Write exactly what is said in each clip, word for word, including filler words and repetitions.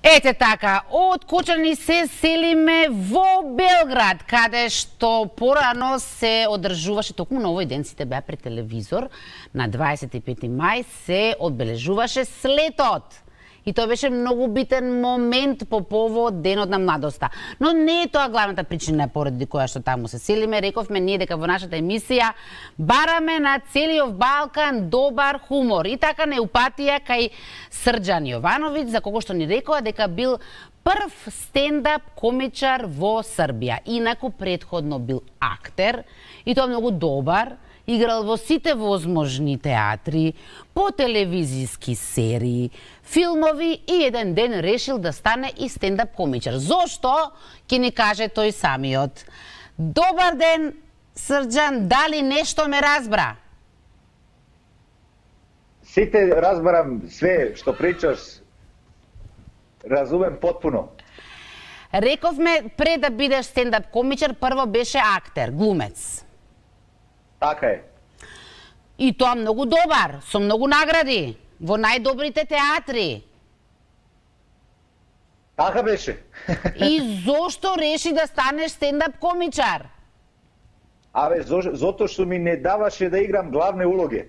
Ете така, од Кочани се селиме во Белград, каде што порано се одржуваше, токму на овој ден сите беа пред телевизор, на дваесет и пети мај се одбележуваше слетот. И тоа беше многу битен момент по повод Денот на младоста. Но не е тоа главната причина поради која што таму се селиме. Рековме ние дека во нашата емисија бараме на целиот Балкан добар хумор. И така не упатија кај Срđan Јовановиќ, за кого што ни рекоа дека бил прв стендап комичар во Србија. Инаку претходно бил актер, и тоа многу добар. Играл во сите возможни театри, по телевизиски серии, филмови и еден ден решил да стане и стендап комичар. Зошто? Ќе ни каже тој самиот. Добар ден, Срđan, дали нешто ме разбра? Сите разбарам, све што причаш, разумем потпуно. Рековме, пред да бидеш стендап комичар, прво беше актер, глумец. Така е. И тоа многу добар, со многу награди, во најдобрите театри. Така беше. И зошто реши да станеш стендап комичар? Абе, зото што ми не даваше да играм главне улоги.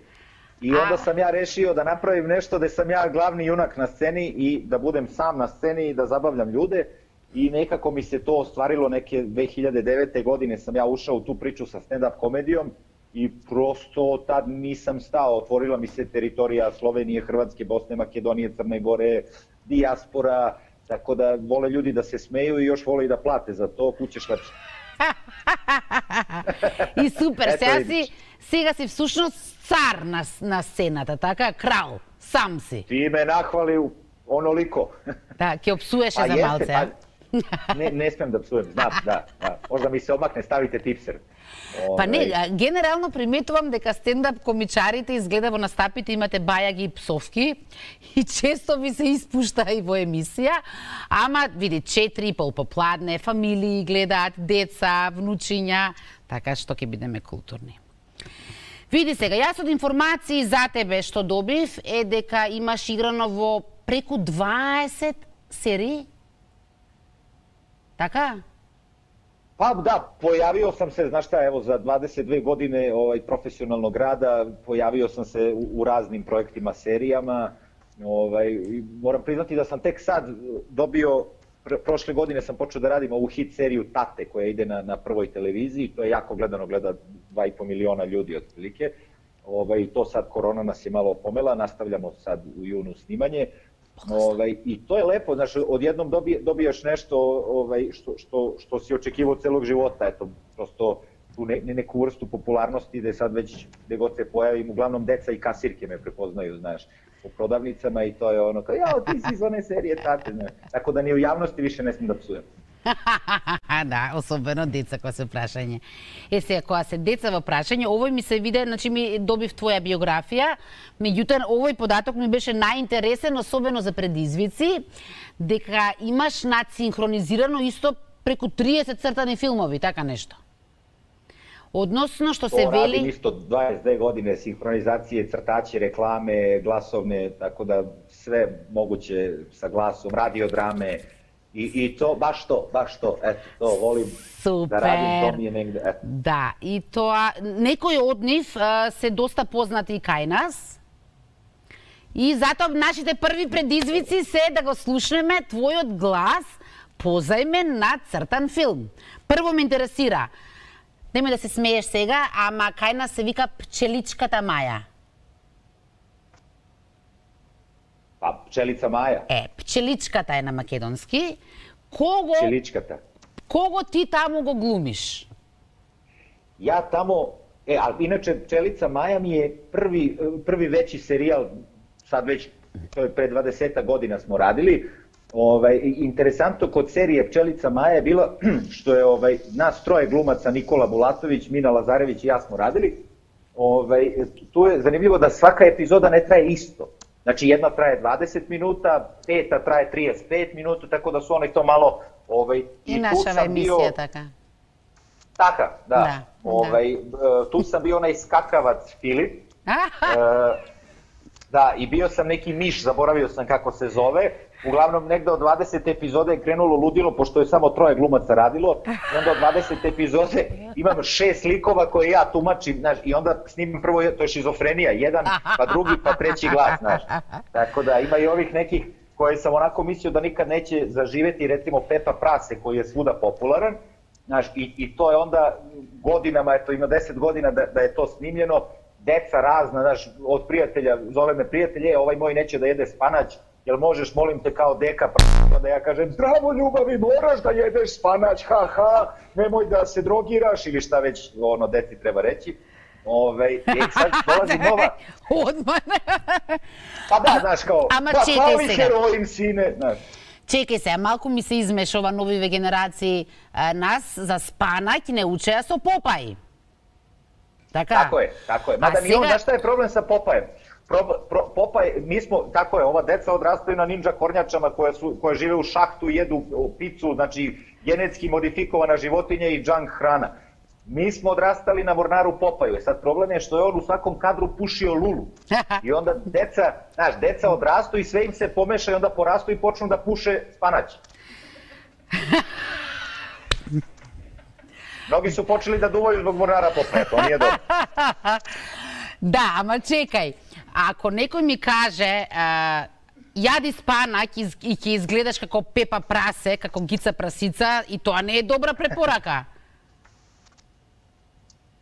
И onda sam ja rešio da napravim nešto da sam ja glavni junak na sceni i da budem sam na sceni i da zabavljam ljude. I nekako mi se to ostvarilo, neke dve hiljade devete. godine sam ja ušao u tu priču sa stand-up komedijom i prosto tad nisam stao, otvorila mi se teritorija Slovenije, Hrvatske, Bosne, Makedonije, Crne Gore, dijaspora, tako da vole ljudi da se smeju i još vole i da plate za to, kućeš lepše. И супер, сега си, сега си всушност цар на, на сцената, така, крал, сам си. Ти ме нахвали оноliko. Да, ќе опсуеше за малце, а? Не, не смем да псуем, знам, да, да. Можда ми се обмакне, ставите типсер. Па не, генерално приметувам дека стендап комичарите изгледа во настапите имате бајаги и псовки и често ви се испушта и во емисија, ама види четири и пол попладне, фамилии гледаат, деца, внучиња, така што ќе бидеме културни. Види сега, јас од информации за тебе што добив е дека имаш играно во преку дваесет серии? Така? Pa da, pojavio sam se, znaš šta, evo za dvadeset dve godine ovaj, profesionalnog rada, pojavio sam se u, u raznim projektima, serijama. Ovaj, moram priznati da sam tek sad dobio, pr prošle godine sam počeo da radim ovu hit seriju Tate koja ide na, na prvoj televiziji, to je jako gledano, gleda dva i po miliona ljudi otprilike. Ovaj, to sad korona nas je malo pomela, nastavljamo sad u junu snimanje. Ovaj, I to je lepo, znaš, odjednom dobije, dobijaš nešto ovaj, što, što, što si očekivao celog života, eto, prosto tu ne, neku vrstu popularnosti da je sad već gde god se pojavim, uglavnom deca i kasirke me prepoznaju, znaš, u prodavnicama i to je ono kao, jao, ti si iz one serije Tate, znaš, tako da ni u javnosti više ne smem da psujem. Да, особено деца кога се прашање. Е сега, кога се деца во прашање, овој ми се виде, значи ми добив твоја биографија, меѓутоа овој податок ми беше најинтересен, особено за предизвици, дека имаш надсинхронизирано исто преку триесет цртани филмови, така нешто. Односно што се вели... Радим исто дваесет две godine синхронизације, цртаči, рекламе, гласовне, tako da sve moguće sa glasom, radiodrame. I, I to, baš to, baš to, eto, to volim Супер. Да радим, то ми е негде, eto. Да, и тоа, некои од нив а, се доста познати и кај нас. И затоа нашите први предизвици се да го слушнеме твојот глас позајмен на цртан филм. Прво ме интересира, немој да се смееш сега, ама кај нас се вика Пчеличката Маја. Pa Pčelica Maja. Е, Пчеличката е на македонски. Кого... Pčeličkata. Кого ти таму го глумиш? Ja tamo, e, ali inače Pčelica Maja mi je prvi, prvi veći serijal, sad već, to je pre dvadeset godina smo radili. Ovaj, interesantno kod serije Pčelica Maja je bilo što je ovaj, nas troje glumaca, Nikola Bulatović, Mina Lazarević i ja smo radili. Ovaj, tu je zanimljivo da svaka epizoda ne traje isto. Znači jedna traje dvadeset minuta, peta traje trideset pet minuta, tako da su oni to malo... Ovaj, I, I naša emisija bio... taka. Taka, da. da ovaj, da. Tu sam bio onaj skakavac Filip. e, da, i bio sam neki miš, zaboravio sam kako se zove. Uglavnom, negde od dvadesete epizode je krenulo ludilo, pošto je samo troje glumaca radilo, i onda od dvadesete epizode imam šest likova koje ja tumačim, znaš, i onda snimam prvo, to je šizofrenija, jedan, pa drugi, pa treći glas, znaš. Tako da ima i ovih nekih koje sam onako mislio da nikad neće zaživeti, recimo Pepa Prase, koji je svuda popularan, znaš, i, i to je onda godinama, eto ima deset godina da, da je to snimljeno, deca razna, znaš, od prijatelja, zove me prijatelje, ovaj moj neće da jede spanać, jel možeš, molim te, kao deka, pa da ja kažem, zdravo ljubavi, moraš da jedeš spanać, ha ha, nemoj da se drogiraš, ili šta već ono deci treba reći. Ove, i sad dolazi nova... Odmah. Pa da, znaš, kao, Ама pa чекај пали сега. heroin, sine, znaš. Чекај се, малку ми се измешува новиве генерации. А, нас за спанаќ не учеа со Попај. Така? Tako je, tako je. Mada A ni on, сега- znaš šta je problem sa Popajem? Pro, pro, Popaj, mi smo, tako je, ova deca odrastaju na ninja kornjačama koje, su, koje žive u šahtu, jedu picu, znači genetski modifikovana životinja i junk hrana. Mi smo odrastali na Mornaru Popaju. Sad problem je što je on u svakom kadru pušio lulu. I onda deca, znaš, deca odrastu i sve im se pomeša i onda porastu i počnu da puše spanać. Mnogi su počeli da duvaju zbog Mornara Popaja, to nije dobro. Да, ама чекај. Ако некој ми каже а, јади спанаќ и, и ќе изгледаш како Пепа Прасе, како Гица Прасица, и тоа не е добра препорака.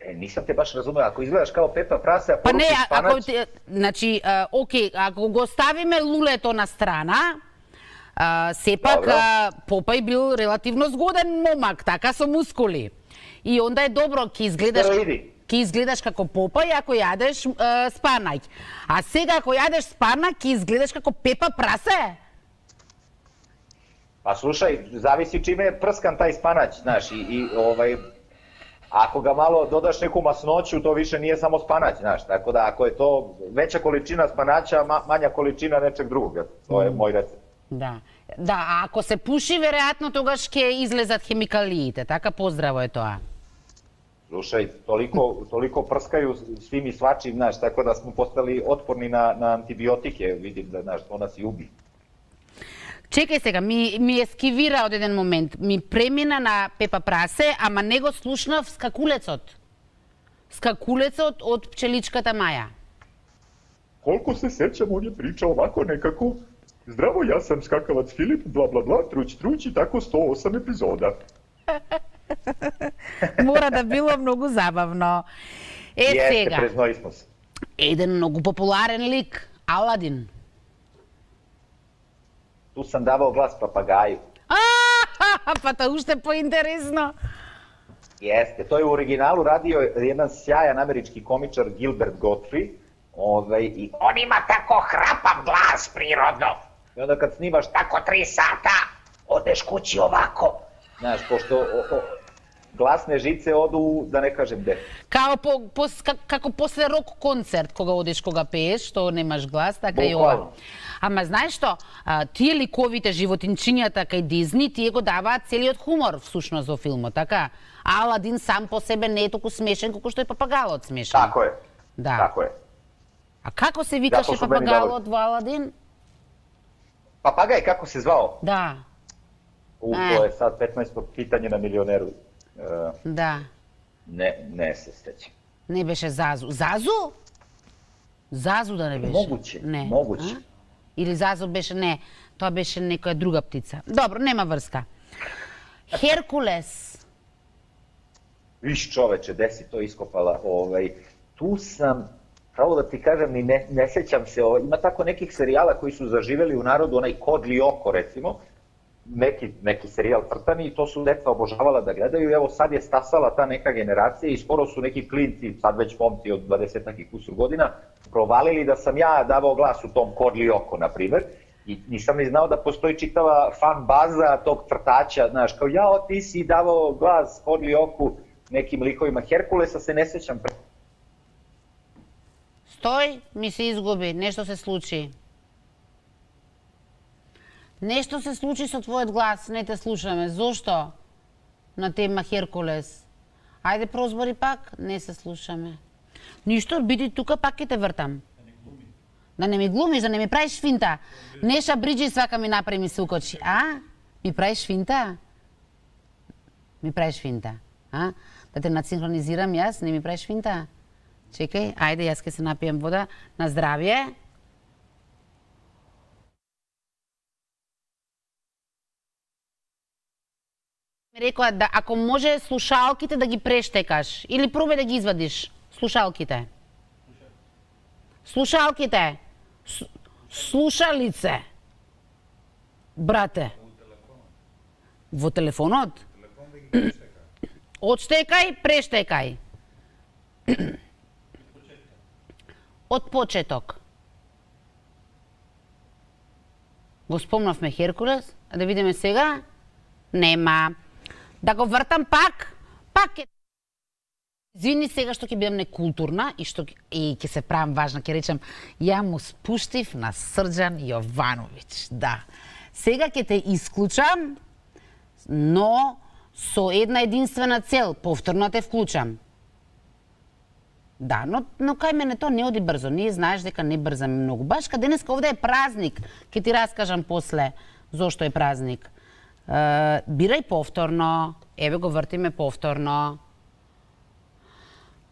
E, nisam te baš razumeo, ako izgledaš kao Pepa Prase, a Па не, poručiš а- ако spanać, ти- значи, а, окей, ако го ставиме лулето на страна, а, сепак Добро. а, Попај бил релативно згоден момак, така со мускули. И онда е добро, ќе изгледаш Стероиди. ќе изгледаш како Попај ако јадеш а, спанаќ. А сега ако јадеш спанаќ, ќе изгледаш како Пепа Прасе. pa slušaj, zavisi čime je prskan taj spanać, znaš, i, i ovaj, ako ga malo dodaš neku masnoću, to više nije samo spanać, znaš, tako da ako je to veća količina spanaća, ma, manja količina nečeg drugog, eto, to je moj recept. Да. Да, а ако се пуши, веројатно тогаш ќе излезат хемикалиите, така поздраво е тоа. Slušaj, toliko, toliko prskaju svim i svačim, znaš, tako da smo postali otporni na, na antibiotike, vidim da, znaš, to nas i ubi. Чекај сега, ми, ми ескивира од еден момент. Ми премина на Пепа Прасе, ама не го слушнав скакулецот. Скакулецот од пчеличката Маја. Koliko se sećam, on je pričao ovako nekako: zdravo, ja sam skakavac Filip, bla bla bla, truć truć i tako sto osam epizoda. Мора да било многу забавно. Е, Jeste, сега, preznoji smo se. еден многу популарен лик, Аладин. Tu sam davao glas papagaju. А, па тоа уште поинтересно. Jeste, to je u originalu radio jedan sjajan američki komičar Gilbert Gottfried, ovaj, i On ima tako hrapav glas prirodno. I onda kad snimaš tako, Tako tri sata odeš kući ovako. znaš, pošto o, o, glasne žice odu, da ne kažem gde. Као по, по, ка- како после рок концерт, кога одиш, кога пееш, што немаш глас, така и ова. Буквално. Ама знаеш што, а, тие ликовите животинчињата кај Дизни, тие го даваат целиот хумор всушност во филмот, така? А Аладин сам по себе не е толку смешен колку што е папагалот смешен. Tako je, Да. tako je. А како се викаше Затоа што мене папагалот во Аладин? Papagaj, kako se zvao? Да, U, E. to je sad petnaesto pitanje na milioneru. E, да. ne, ne se sećam. Не беше Зазу. Зазу? Зазу да не беше? Moguće, Не. moguće. А? Или Зазу беше, не, тоа беше некоја друга птица. Добро, нема врска. Херкулес. Viš čoveče, gde si to iskopala? Ovaj, tu sam, pravo da ti kažem, ni ne, ne sećam se, ovaj, ima tako nekih serijala koji su zaživeli u narodu, onaj Kodli oko recimo, neki, neki serijal crtani i to su deca obožavala da gledaju i evo sad je stasala ta neka generacija i skoro su neki klinci, sad već momci od dvadesetak i kusur godina, provalili da sam ja davao glas u tom Kodli oko, na primer, i nisam ni znao da postoji čitava fan baza tog crtača, znaš, kao jao ti si davao glas Kodli oku nekim likovima. Herkulesa se ne sećam. Стој, ми се изгуби, нешто се случи. Нешто се случи со твојот глас, не те слушаме. Зошто? На тема Херкулес. Ајде прозбори пак, не се слушаме. Ништо, биди тука, пак ќе те вртам. Да не ми глумиш, да не ми правиш финта. Неша Бриджи свака ми направи ми се укочи. А? Ми правиш финта? Ми правиш финта, а? Да те надсинхронизирам јас, не ми правиш финта? Чекај, ајде, јас ке се напиjem вода. На здравје. Ми рекоа да ако може слушалките да ги прештекаш или пробај да ги извадиш слушалките. Слушалките. С, слушалице. Брате. Во телефонот? Одштекај, прештекај. Од почеток. Го спомнавме Херкулес, а да видиме сега. Нема. Да го вртам пак, пак е... Извини сега што ќе бидам некултурна и што и ќе се правам важна, ќе речам ја му спуштив на Срđan Јовановиќ. Да. Сега ќе те исклучам, но со една единствена цел, повторно те вклучам. Да, но, но кај мене то не оди брзо. Ние знаеш дека не брзаме многу. Баш каде денеска овде е празник. Ќе ти раскажам после зошто е празник. Uh, бирај повторно, еве го вртиме повторно.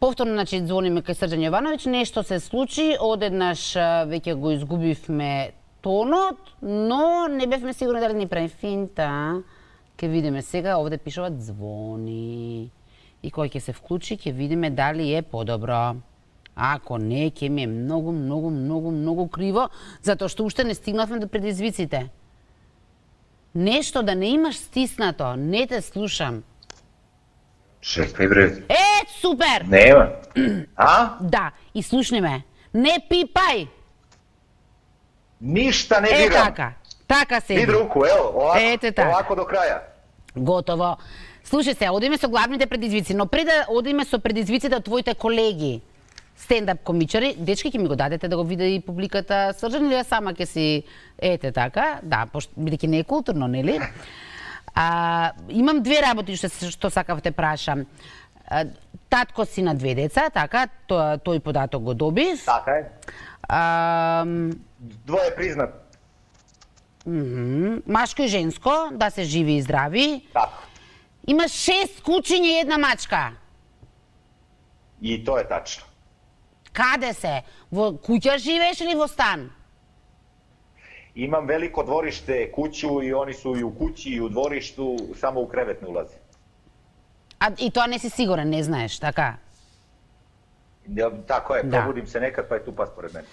Повторно, значи, звониме кај Срđan Јовановиќ, нешто се случи, одеднаш веќе го изгубивме тонот, но не бевме сигурни дали ни прави финта. Ке видиме сега, овде пишуваат звони. И кој ќе се вклучи, ќе видиме дали е подобро. Ако не, ќе ми е многу, многу, многу, многу криво, затоа што уште не стигнавме до предизвиците. Нешто да не имаш стиснато, не те слушам. Чекај бре. Е, супер! Нема. А? Да, и слушни ме. Не пипај! Ништа не Е, дирам. така. Така седи. Вид руку, ево, овако, Ете така. овако до краја. Готово. Слушај се, одиме со главните предизвици, но пред да одиме со предизвиците од твоите колеги, стендап комичари, дечки ќе ми го дадете да го види и публиката Срđan или ја сама ќе си ете така, да, пошто бидејќи не е културно, нели? А, имам две работи што што сакав те прашам. А, татко си на две деца, така, тој, тој податок го добив. Така е. А, Двое признат. мхм, машко и женско, да се живи и здрави. Така. Има шест кучиња и една мачка. И тоа е тачно. Каде се? Во куќа живееш или во стан? Имам велико двориште, куќу и они су и у куќи и у дворишту, само у кревет не улази. А и тоа не си сигурен, не знаеш, така? Да, тако е, Да. пробудим се некад, па е тупа според мене.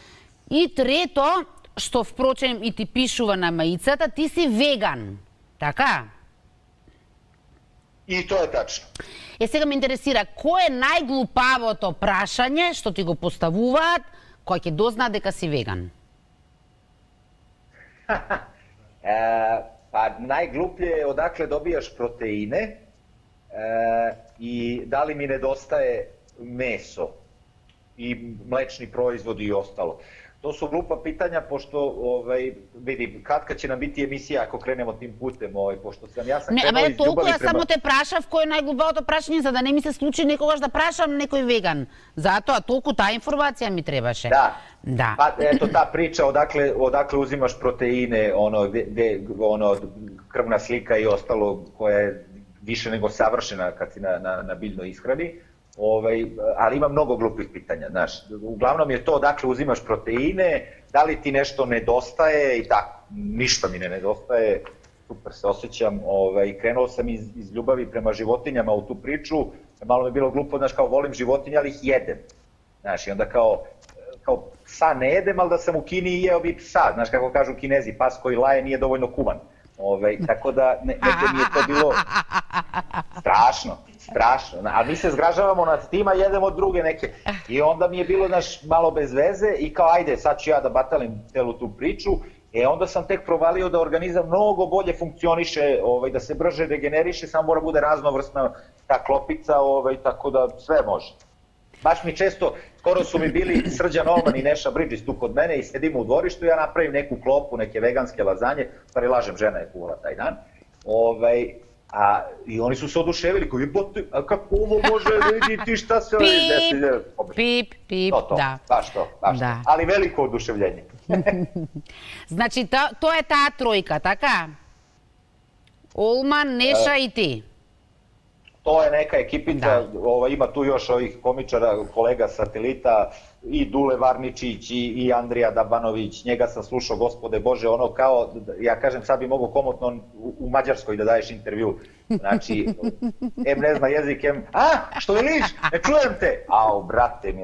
И трето, што впрочем и ти пишува на маицата, ти си веган, така? И тоа е тачно. Е, сега ме интересира, кој е најглупавото прашање што ти го поставуваат, кој ќе дозна дека си веган? Е, па најглуплje е одакле добијаш протеине е, и дали ми недостае месо и млечни производи и остало. To su glupa pitanja, pošto, ovaj, vidi, katka će nam biti emisija ako krenemo tim putem, ovaj, pošto sam, ja sam Не, krenuo абе, iz толку ljubavi ја prema... само те прашав кој е најглупавото прашање за да не ми се случи некогаш да прашам некој веган. Затоа толку таа информација ми требаше. Da, Да. pa eto ta priča odakle, odakle uzimaš proteine, ono, de, de, ono, krvna slika i ostalo koja je više nego savršena kad si na, na, na biljnoj ishrani. Ovaj, ali ima mnogo glupih pitanja, znaš. Uglavnom je to odakle uzimaš proteine, da li ti nešto nedostaje i tako. Ništa mi ne nedostaje, super se osjećam. Ovaj, krenuo sam iz, iz ljubavi prema životinjama u tu priču, malo mi je bilo glupo, znaš, kao volim životinje, ali ih jedem. Znaš, i onda kao, kao psa ne jedem, ali da sam u Kini i jeo bi psa. Znaš, kako kažu Kinezi, pas koji laje nije dovoljno kuvan. Ovaj, tako da, ne, negde mi je to bilo strašno, strašno. A mi se zgražavamo nad tima, jedemo druge neke. I onda mi je bilo, znaš, malo bez veze i kao, ajde, sad ću ja da batalim celu tu priču. E onda sam tek provalio da organizam mnogo bolje funkcioniše, ovaj, da se brže regeneriše, samo mora bude raznovrsna ta klopica, ovaj, tako da sve može. Baš mi često, skoro su mi bili Srđan Oman i Neša Bridges tu kod mene i sedimo u dvorištu i ja napravim neku klopu, neke veganske lazanje, stvari lažem, žena je kuvala taj dan. Ovaj, A, I oni su se oduševili, koji bote, a kako ovo može, vidi ti šta se... Pip, pip, pip, to, to, da. Baš to, baš da. to. Ali veliko oduševljenje. Значи, to, to je ta trojka, така? Olman, Neša e, i ti. To je neka ekipica, ova, ima tu još ovih komičara, kolega Satelita, i Dule Varničić, i, i Andrija Dabanović, njega sam slušao, gospode Bože, ono kao, ja kažem, sad bi mogo komotno u, u Mađarskoj da daješ intervju. Znači, em ne zna jezik, em, a, što veliš, ne čujem te. Ao, brate mi,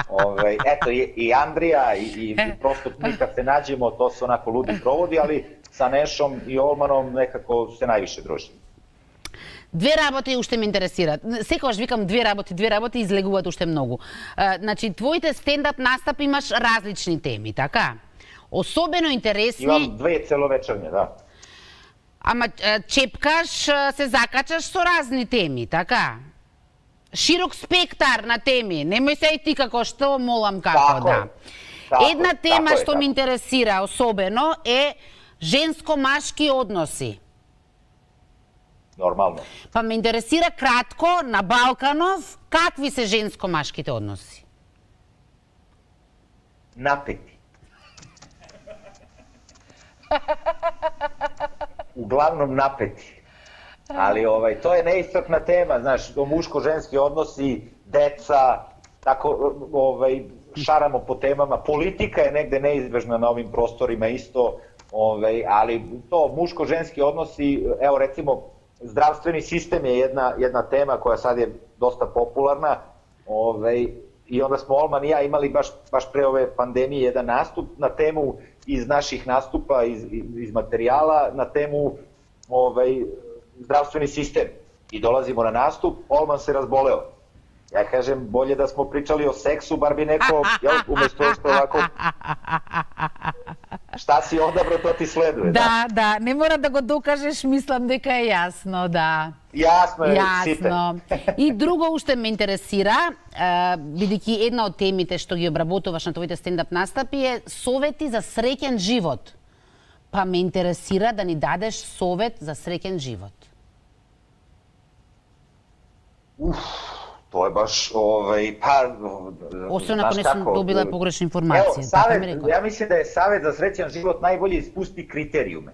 ovaj, eto, i, i Andrija, i, i prosto mi kad se nađemo, to su onako ludi provodi, ali sa Nešom i Olmanom nekako se najviše družimo. Две работи уште ме интересираат. Секогаш викам две работи, две работи излегуваат уште многу. Значи, твоите стендап настапи имаш различни теми, така? Особено интересни... Имам две целовечерни, да. Ама чепкаш, се закачаш со разни теми, така? Широк спектар на теми. Немој се и ти како што, молам како, тако, да. Тако, Една тема тако што е, ме интересира особено е женско-машки односи. Нормално. Па ме интересира кратко, на Балканов, какви се женско-машките односи? Напети. Uglavnom napeti. Ali ovaj, to je neiscrpna tema, znaš, muško-ženski odnosi, deca, tako ovaj, šaramo po temama. Politika je negde neizbežna na ovim prostorima isto, ovaj, ali to muško-ženski odnosi, evo recimo, zdravstveni sistem je jedna, jedna tema koja sad je dosta popularna, ovaj, i onda smo Olman i ja imali baš, baš pre ove pandemije jedan nastup na temu iz naših nastupa, iz, iz materijala, na temu ovaj, zdravstveni sistem. I dolazimo na nastup, Olman se razboleo. Ja kažem, bolje da smo pričali o seksu, bar bi neko, jel, umesto što ovako... Šta si odabrao, to ti sleduje. Да, да, да, не мора да го докажеш, мислам дека е јасно, да. Јасно е, Јасно. И друго уште ме интересира, бидејќи една од темите што ги обработуваш на твоите стендап настапи е совети за среќен живот. Па ме интересира да ни дадеш совет за среќен живот. Уф, тоа е баш, овај, па... Освен ако не сум добила погрешна информација. Ево, савет, ја мислам да е савет за среќен живот најбоље испусти критериуме.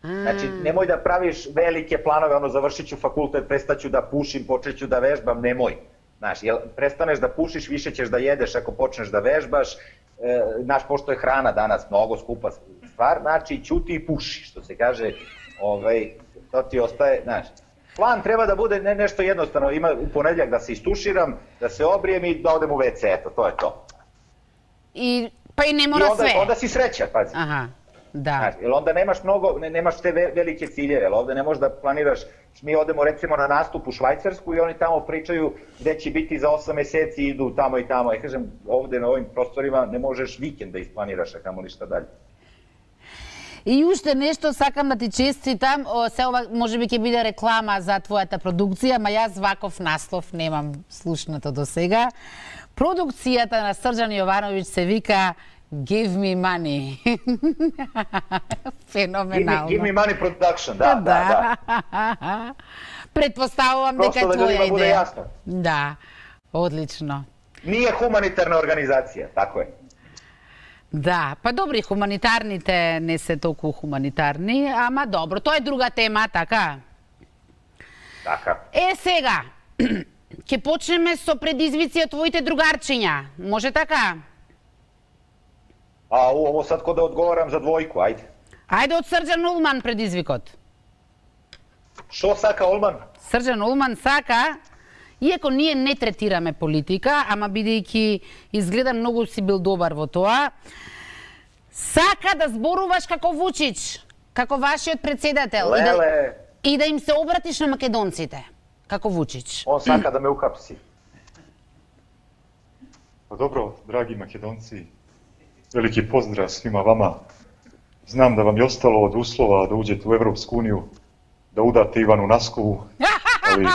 Значи, немој да правиш велике планове, оно завршиću факултет, престаću да пушим, почеću да вежбам, немој. Знаеш, jel prestaneš da pušiš, više ćeš da jedeš ako počneš da vežbaš. E, znaš, pošto je hrana danas mnogo skupa stvar, znači ćuti i puši, što se kaže, ovaj, to ti ostaje, znaš. Plan treba da bude ne, nešto jednostavno, ima u ponedjeljak da se istuširam, da se obrijem i da odem u ve ce, eto, to je to. I, pa i ne mora I onda, sve. onda si srećan, pazi. Aha, da. Znaš, jer onda nemaš mnogo, ne, nemaš te velike ciljeve, jer ovde ne možeš da planiraš, mi odemo recimo na nastup u Švajcarsku i oni tamo pričaju gde će biti za osam meseci, idu tamo i tamo. Ja kažem, ovde na ovim prostorima ne možeš vikend da isplaniraš, a kamo ništa dalje. И уште нешто сакам да ти честитам, се ова можеби ќе биде реклама за твојата продукција, ма јас ваков наслов немам слушнато до сега. Продукцијата на Срđan Јовановиќ се вика Give me money. Феноменално. Give me, give me money production, да, да, да. да. Предпоставувам дека е Просто да твоја ljudima bude идеја. jasno. Да, одлично. Nije humanitarna organizacija, tako je. Да, па добри, хуманитарните не се толку хуманитарни, ама добро, тоа е друга тема, така? Така. Е, сега, ќе почнеме со предизвици од твоите другарчиња, може така? A ovo sad ko da odgovaram za dvojku, ajde. Ајде од Срđan Улман предизвикот. Što saka Olman? Срđan Улман сака, иако ние не третираме политика, ама бидејќи изгледа многу си бил добар во тоа, сака да зборуваш како Вучич, како вашиот председател и да, и да им се обратиш на македонците, како Вучич. On saka da me uhapsi. Pa dobro, dragi Makedonci, veliki pozdrav svima vama. Znam da vam je ostalo od uslova da uđete u Evropsku uniju, da udate Ivanu Naskovu, ali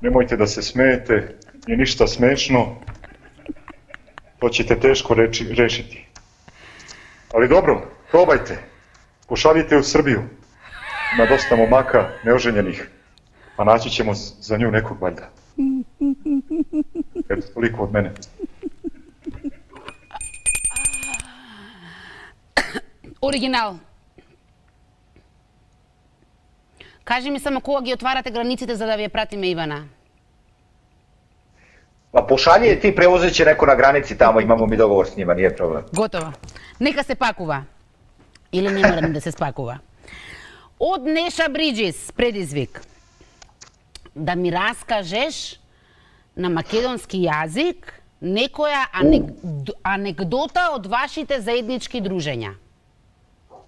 nemojte da se smejete, nije ništa smešno, to ćete teško reči, rešiti. Ali dobro, probajte, pošaljite u Srbiju, ima dosta momaka neoženjenih, pa naći ćemo za nju nekog valjda. Eto, toliko od mene. Оригинал. Кажи ми само кога ги отварате границите за да ви ја пратиме Ивана? Па пошаљи е ти, превозеće неко на граници тамо, имамо ми договор с нима, nije проблем. Готово. Нека се пакува. Или не мора да се спакува. Од Неша Бриджис, предизвик. Да ми раскажеш на македонски јазик некоја анек... анекдота од вашите заеднички дружења.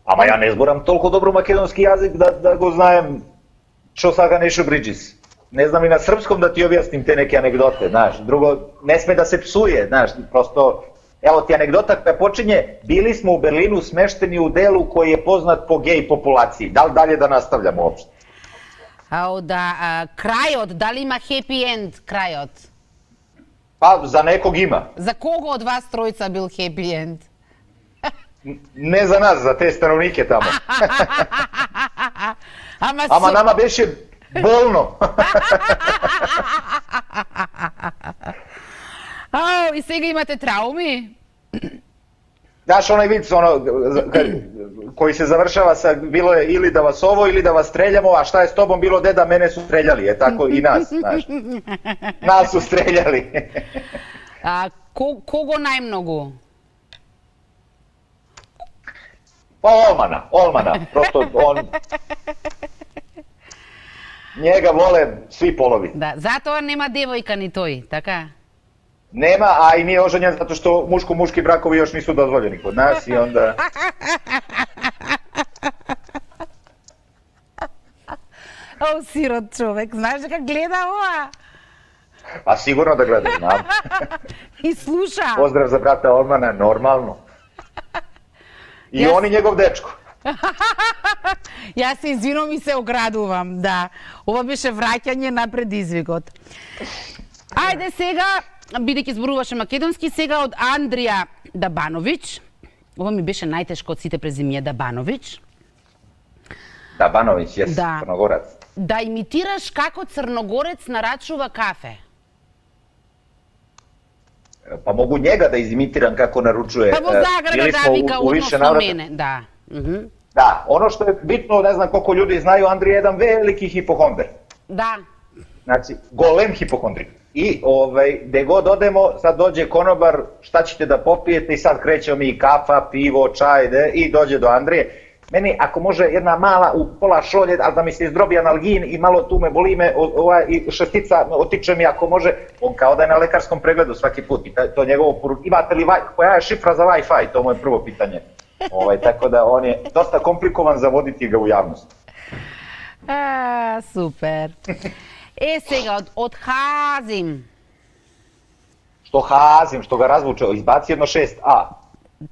Ама ја не зборам толку добро македонски јазик да, да го знаем што сака Нешо Бриджис. Не знам и на српском да ти објасним те неки анекдоте, знаеш. Друго, не сме да се псуе, знаеш, просто... Ево ти анекдота која почиње, били смо у Берлину смештени у делу кој е познат по геј популацији. Дали далje да наставljamo уопште? А, да, а, крајот, дали има хепи енд крајот? Па, за неког има. За кого од вас тројца бил хепи енд? Не за нас, за те становнике тамо. Ама, Ама со... нама беше болно. Ау, и сега имате трауми? Знаеш, онај вид, оно, кој се завршава са, било е или да вас ово, или да вас стрељамо, а šta je s tobom bilo, деда, мене су стрељали, е тако и нас, знаеш. Нас су стрељали. А, ко, кого најмногу? Па Олмана, Олмана, просто он... Njega vole svi polovi. Да, затоа нема девојка ни тој, така? Нема, а и nije oženjen zato što muško-muški brakovi još nisu dozvoljeni kod nas i onda... О, сирот човек, знаеш дека гледа ова? Pa sigurno da gleda, znam. И слуша. Pozdrav za brata Olmana, normalno. I Јас- on i njegov dečko. Јас се извинувам и се оградувам, да. Ова беше враќање на предизвикот. Ајде сега, бидејќи зборуваше македонски, сега од Андрија Дабановиќ. Ова ми беше најтешко од сите презимија, Дабановиќ. Da, Banović, jes, Da. Crnogorac. Да имитираш како црногорец нарачува кафе. Pa mogu njega da izimitiram kako naručuje. Па во E, Загреб bili да smo u- вика u više односно navrata. мене, да. Мгм. Da, ono što je bitno, ne znam koliko ljudi znaju, Andrija je jedan veliki hipohonder. Да. Znači, golem hipohondrik. I ovaj, gde god odemo, sad dođe konobar, šta ćete da popijete i sad krećemo mi kafa, pivo, čaj, de, i dođe do Andrije. Meni, ako može jedna mala u pola šolje, ali da mi se izdrobi analgin i malo tu me boli me, o- ova, i šestica otiče mi ako može, on kao da je na lekarskom pregledu svaki put. I ta- to njegovo poru... Imate li, wi- koja je šifra za Wi-Fi? To je moje prvo pitanje. Ovaj, tako da on je dosta komplikovan za voditi ga u javnost. А, супер. Е, сега, од, од Хазим. Što hazim, što ga razvuče, izbaci jedno šest a.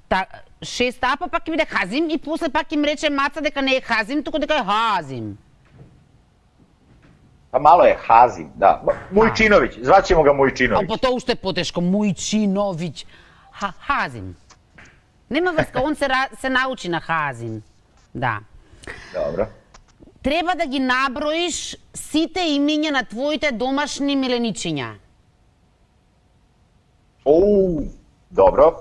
Та, шест а, па пак ќе биде Хазим и после пак им рече Маца дека не е Хазим, туку дека е Хазим. Pa malo je hazim, da. Mujčinović, zvaćemo ga А Mujčinović. па тоа уште е потешко, Мујчиновиќ. Ха, Хазим. Нема врска, он се, ра- се научи на Хазим. Да. Dobro. Треба да ги наброиш сите имиња на твоите домашни миленичиња. Uuu, dobro.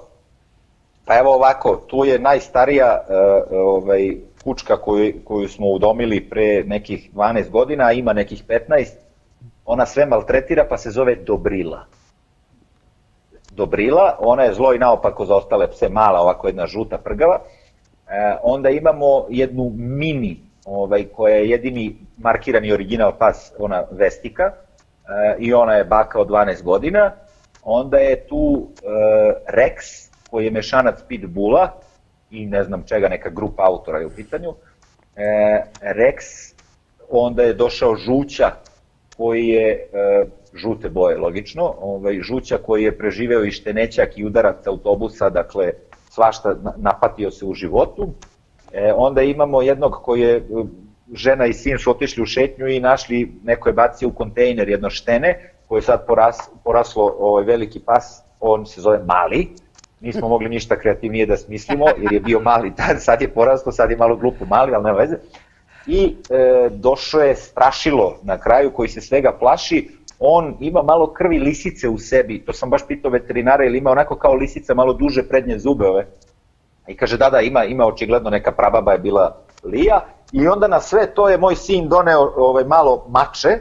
Pa evo ovako, tu je najstarija e, ovaj, kučka koju, koju smo udomili pre nekih dvanaest godina, a ima nekih petnaest. Ona sve maltretira pa se zove Dobrila. Dobrila, ona je zlo i naopako za ostale pse, mala, ovako jedna žuta prgava. E, onda imamo jednu mini, ovaj, koja je jedini markirani original pas, ona Vestika, e, i ona je baka od dvanaest godina. Onda je tu e, Rex, koji je mešanac pitbulla i ne znam čega, neka grupa autora je u pitanju. E, Rex, onda je došao Žuća, koji je e, žute boje, logično, ovaj, Žuća koji je preživeo i štenećak i udarac autobusa, dakle svašta na- napatio se u životu. E, onda imamo jednog koji je, e, žena i sin su otišli u šetnju i našli, neko je bacio u kontejner jedno štene, koje je sad poras, poraslo ovaj veliki pas, on se zove Mali. Nismo mogli ništa kreativnije da smislimo, jer je bio mali tad, sad je poraslo, sad je malo glupo Mali, ali nema veze. i e, došao je strašilo na kraju koji se svega plaši. On ima malo krvi lisice u sebi, to sam baš pitao veterinara, ili ima onako kao lisica malo duže prednje zube ove. I kaže da, da, ima, ima očigledno neka prababa je bila Lija. I onda na sve to je moj sin doneo ovaj, malo mače,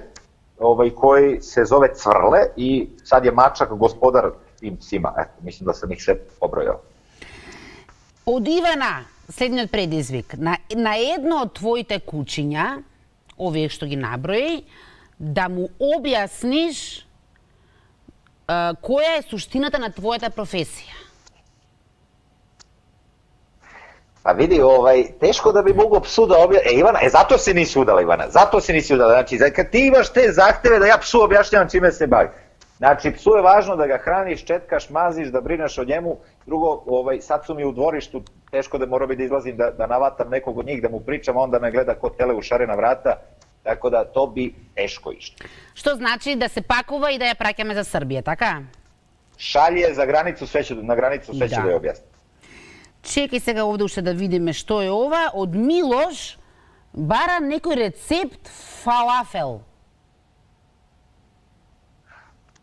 ovaj, koji se zove Cvrle i sad je mačak gospodar tim psima. Eto, mislim da sam ih sve pobrojao. Од Ивана, следниот предизвик. На, на едно од твоите кучиња, овие што ги наброи, да му објасниш а, која е суштината на твојата професија. Pa vidi, ovaj, teško da bi mogo psu da obja... E, Ivana, e, zato se nisi udala, Ivana, zato se nisi udala. Znači, kad ti imaš te zahteve da ja psu objašnjavam čime se bavi. Znači, psu je važno da ga hraniš, četkaš, maziš, da brineš o njemu. Drugo, ovaj, sad su mi u dvorištu, teško da mora bi da izlazim da, da navatam nekog od njih, da mu pričam, onda me gleda ko tele u šarena vrata. Tako da to bi teško išlo. Што значи да се пакува и да ја праќаме за Србија, така? Шалје за границу, све ќе, на границу све ќе да ја објасни. Чекај сега овде уште да видиме што е ова. Од Милош бара некој рецепт фалафел.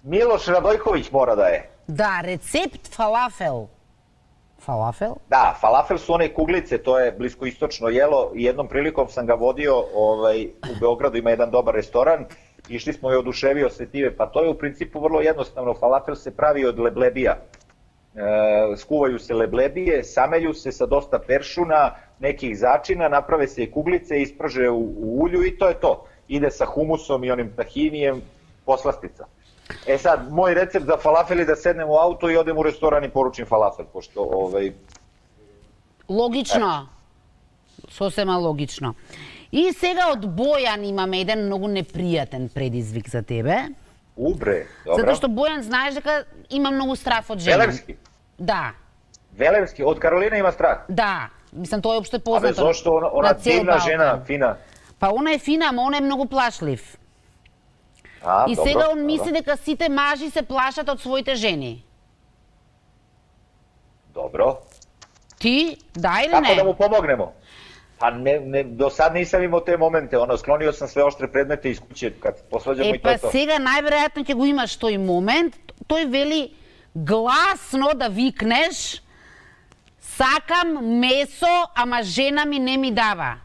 Милош Радојковиќ мора да е. Да, рецепт фалафел. Фалафел? Da, falafel su one kuglice, to je bliskoistočno jelo i jednom prilikom sam ga vodio, ovaj, u Beogradu ima jedan dobar restoran, išli smo i oduševio se time, pa to je u principu vrlo jednostavno, falafel se pravi od leblebija. E, skuvaju se leblebije, samelju se sa dosta peršuna, nekih začina, naprave se i kuglice, isprže u, u ulju i to je to. Ide sa humusom i onim tahinijem, poslastica. E sad, moj recept za falafel je da sednem u auto i odem u restoran i poručim falafel, pošto ovaj... Логично. Сосема логично. И сега од Бојан имаме еден многу непријатен предизвик за тебе. Убре, добро. Затоа што Бојан знаеш дека има многу страф од жена. Велевски? Да. Велевски, од Каролина има страх? Да. Мислам, тоа е опште познато. Абе, зошто она, она дивна жена, фина? Па она е фина, ама она е многу плашлив. А, и добро, сега он добро. мисли дека сите мажи се плашат од своите жени. Добро. Ти, да или Како не? да му помогнемо? Па не, не, до сад нисам имao те моменте, ono, склонio sam sve oštre predmete iz kuće kad posvađamo Е, i to je па to. сега најверојатно ќе го имаш тој момент. Тој вели гласно да викнеш: сакам месо, ама жена ми не ми дава.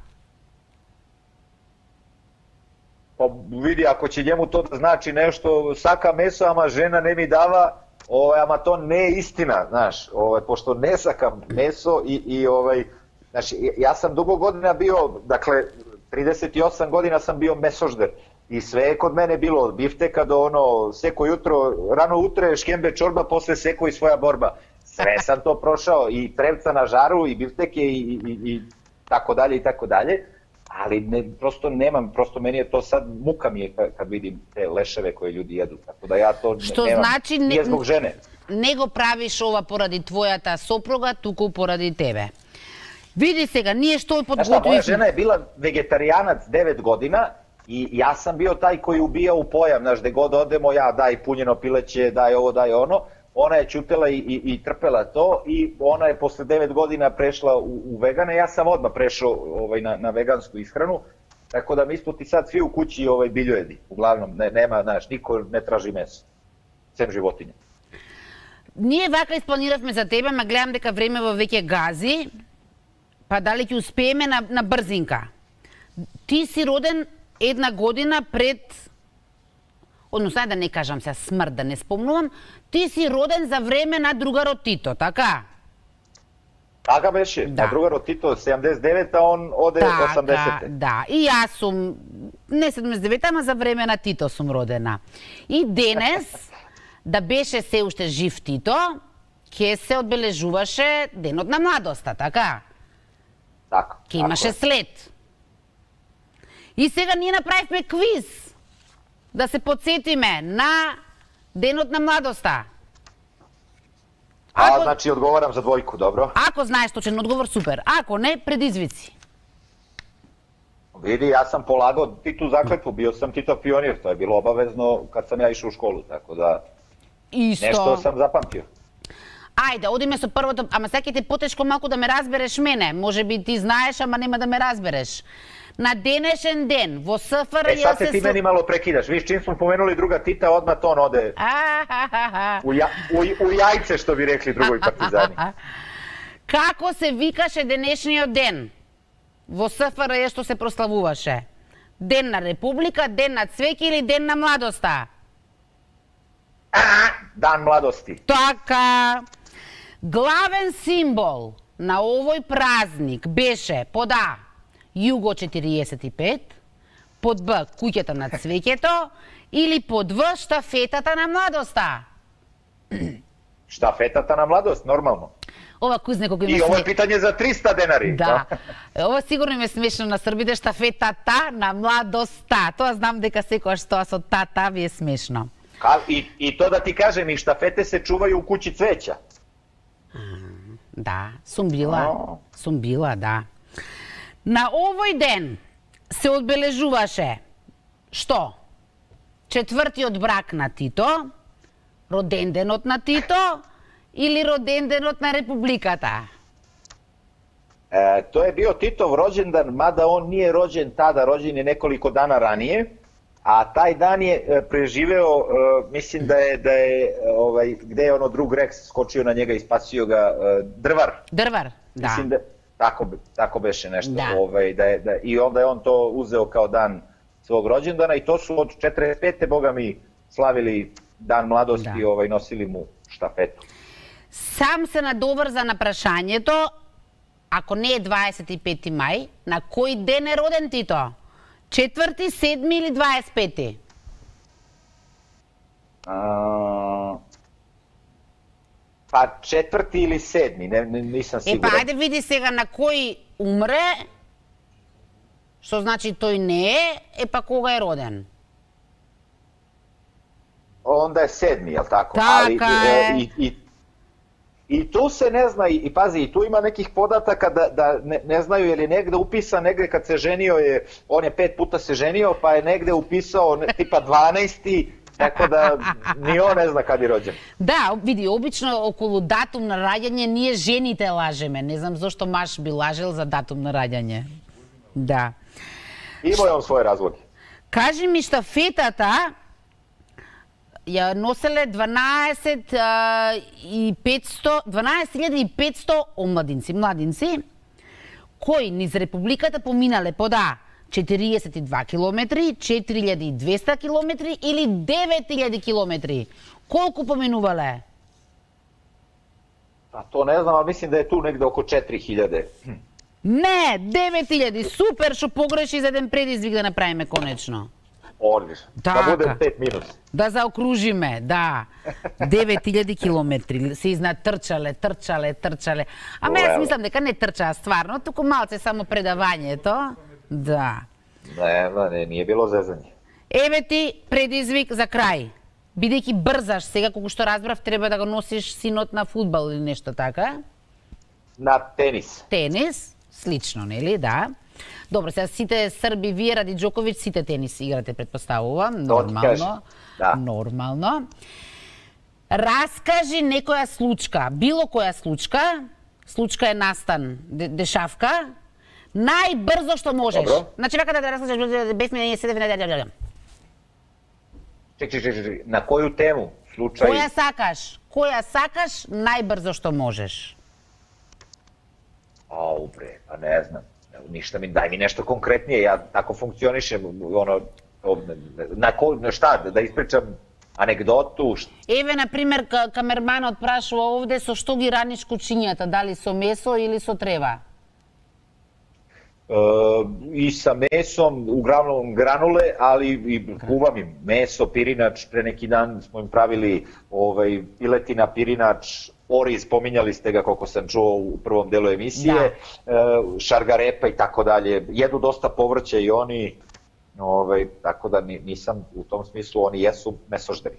Pa vidi, ako će njemu to da znači nešto, saka meso, ama žena ne mi dava, ovaj, ama to ne je istina, znaš, ovaj, pošto ne sakam meso i, i ovaj, znači, ja sam dugo godina bio, dakle, trideset osam godina sam bio mesožder i sve je kod mene bilo, od bifteka do ono, seko jutro, rano utre, škembe čorba, posle seko i svoja borba. Sve sam to prošao, i trevca na žaru, i bifteke, i, i, i tako dalje, i tako dalje. Ali ne, prosto nemam, prosto meni je to sad, muka mi je kad vidim te leševe koje ljudi jedu, tako da ja to Што nemam, значи не, nije zbog žene. не го правиш ова поради твојата сопруга, туку поради тебе. Види сега, ние што Znaš šta, moja подготвивме. žena je bila vegetarijanac devet godina i ja sam bio taj koji ubija u pojam, znaš, gde god odemo, ja daj punjeno pileće, daj ovo, daj ono. Ona je ćutela i, i, i trpela to i ona je posle devet godina prešla u, u vegane, ja sam odmah prešao ovaj, na, na vegansku ishranu, tako da mi smo ti sad svi u kući ovaj, biljojedi, uglavnom, ne, nema, znaš, niko ne traži meso, sem životinja. Ние вака испланиравме за тебе, ма гледам дека времево веќе гази, па дали ќе успееме на, на брзинка. Ти си роден една година пред, односно да не кажам се смрт, да не спомнувам, ти си роден за време на другарот Тито, така? Така беше, Да. на другарот Тито седамдесет и девета, он оде осамдесета. да. И јас сум, не седамдесет и девета, ама за време на Тито сум родена. И денес, да беше се уште жив Тито, ќе се одбележуваше денот на младоста, така? Така. Ке имаше след. И сега ние направивме квиз да се подсетиме на денот на младоста. A, Ако, znači odgovaram za dvojku, dobro? ако знаеш точен одговор, супер. Ако не, предизвици. Vidi, ja sam polagao Titu zakletvu, bio sam Titov pionir, to je bilo obavezno kad sam ja išao u školu, tako da Исто. nešto sam zapamtio. Ајде, одиме со првото, ама сега ќе ти потешко малку да ме разбереш мене. Може би ти знаеш, ама нема да ме разбереш. на денешен ден во СФР Е, sad се se ti meni malo prekidaš. Viš, čim smo pomenuli druga Tita, odmah to on ode u, ja, u, u jajce, što bi rekli drugoj partizani. Како се викаше денешниот ден во СФР што се прославуваше? Ден на Република, ден на цвеќе или ден на младоста? A, Dan mladosti. Така. Главен символ на овој празник беше под А Југо четириесет и пет, под Б куќата на цвеќето или под В штафетата на младоста? Štafetata na mladost, normalno. Ова кузне колку има I ovo je сме... pitanje za tриста денари. Да. Ова сигурно им е смешно на србите, штафетата на младоста. Тоа знам дека секојаш тоа со тата ви е смешно. Ka, i, I to da ti kažem, i štafete se čuvaju u kući cveća. Да, сум била. О. Сум била, да. На овој ден се одбележуваше што? Четвртиот брак на Тито, роденденот на Тито или роденденот на Републиката? E, to je bio Titov rođendan, mada on nije rođen tada, rođen je nekoliko dana ranije, a taj dan je e, preživeo, e, mislim da je, da je ovaj, gde je ono drug Rex skočio na njega i spasio ga, e, Drvar. Drvar, da. Mislim da tako, tako beše nešto. Da. Ovaj, da je, da, I onda je on to uzeo kao dan svog rođendana i to su od četrdeset pete boga mi slavili dan mladosti i Da. ovaj, nosili mu štafetu. Сам се надоврза на прашањето, ако не е дваесет и пети мај, на кој ден е роден Тито? Четврти, седми или дваесет пети? A, pa četvrti ili sedmi, ne, ne, nisam Е, siguran. па, ајде види сега на кој умре, што значи тој не е, е па кога е роден? Onda je sedmi, jel tako? Така Ali, е. e, i, i, I tu se ne zna, i, i pazi, i tu ima nekih podataka da, da ne, ne znaju je li negde upisan, negde kad se ženio je, on je pet puta se ženio, pa je negde upisao ne, tipa dvanaesti, tako da ni on ne zna kad je rođen. Да, види, обично околу датум на раѓање ние жените лажеме. Не знам зошто маж би лажел за датум на раѓање. Да. Imao je on svoje razloge. Кажи ми штафетата ја носеле дванаесет и петсто, дванаесет илјади и петсто омладинци, младинци, кои низ Републиката поминале под А четириесет и два километри, четири илјади и двесте километри или девет илјади километри. Колку поминувале? A to ne znam, ali mislim da je tu negde oko četiri hiljade. Не, девет илјади. Супер, што погреши за еден предизвик да направиме конечно. Odlično. Така. Da bude pet minus. Да заокружиме, да. девет илјади километри се изнатрчале, трчале, трчале. Ама јас Уау. мислам дека не трчаа стварно, туку малце само предавањето. Да. Ne, ne, nije bilo zezanje. Еве ти предизвик за крај. Бидејќи брзаш сега, колку што разбрав, треба да го носиш синот на фудбал или нешто така. Na tenis. Тенис, слично, нели? Да. Добро, сега сите срби, вие ради Џоковиќ, сите тенис играте, предпоставувам. ти кажам. Нормално. Да. Нормално. Раскажи некоја случка, било која случка, случка е настан, де- дешавка, најбрзо што можеш. Добро. Значи, вака да да раскажеш, без мене не седев, не да да. Ček, ček, ček, ček, na koju temu? Slučaj? Која сакаш? Која сакаш најбрзо што можеш? Au bre, pa ne znam. Ništa mi, daj mi nešto konkretnije, ja tako funkcionišem, ono, ovde, na ko, na šta, da ispričam anegdotu, šta? Еве, на пример, ка- камерманот прашува овде со што ги раниш кучињата, дали со месо или со трева? E, I sa mesom, uglavnom granule, ali i kuvam im meso, pirinač, pre neki dan smo im pravili ovaj, piletina, pirinač, oriz, pominjali ste ga koliko sam čuo u prvom delu emisije, e, šargarepa i tako dalje, jedu dosta povrća i oni, ovaj, tako da ni- nisam u tom smislu, oni jesu mesožderi.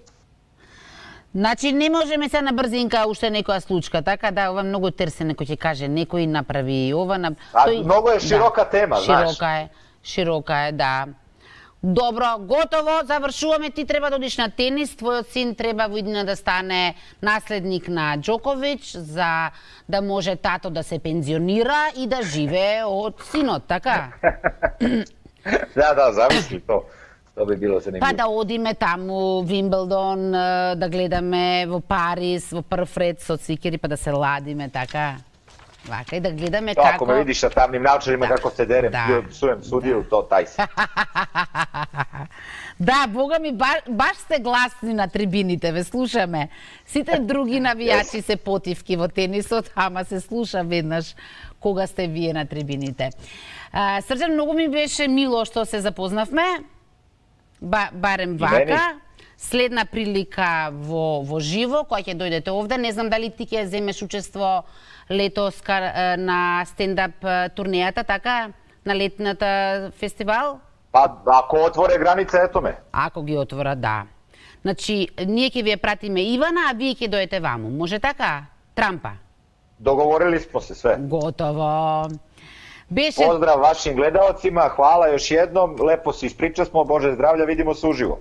Значи не можеме се на брзинка уште некоја случка, така да ова многу терсен некој ќе каже, некој направи ова на А, многу е широка тема, знаеш. Широка е, широка е, да. Добро, готово, завршуваме, ти треба да одиш на тенис, твојот син треба во иднина да стане наследник на Џоковиќ за да може тато да се пензионира и да живее од синот, така? Да, да, замисли то. То би било zanimljivo. Па да одиме таму, Вимблдон, да гледаме во Париз, во прв ред со цикери, па да се ладиме, така. Вака и да гледаме то, како... Ако ме видиш на тамним научарima да. како се дерем, да. псуем судију, да. То тај си. Да, бога ми, баш, баш сте гласни на трибините, ве слушаме. Сите други навијачи се потивки во тенисот, ама се слуша веднаш кога сте вие на трибините. А, Срđan, многу ми беше мило што се запознавме, ба, барем вака. Следна прилика во, во живо, која ќе дојдете овде. Не знам дали ти ќе земеш учество летос на стендап турнејата, така? На летната фестивал? Па, ако отворе граница, ето ме. Ако ги отвора, да. Значи, ние ќе вие пратиме Ивана, а вие ќе дојдете ваму. Може така? Трампа. Договорили смо се све. Готово. Беше... Поздрав вашим гледаоцима, хвала još jednom, lepo se ispriča smo, Bože zdravlja, vidimo se uživo.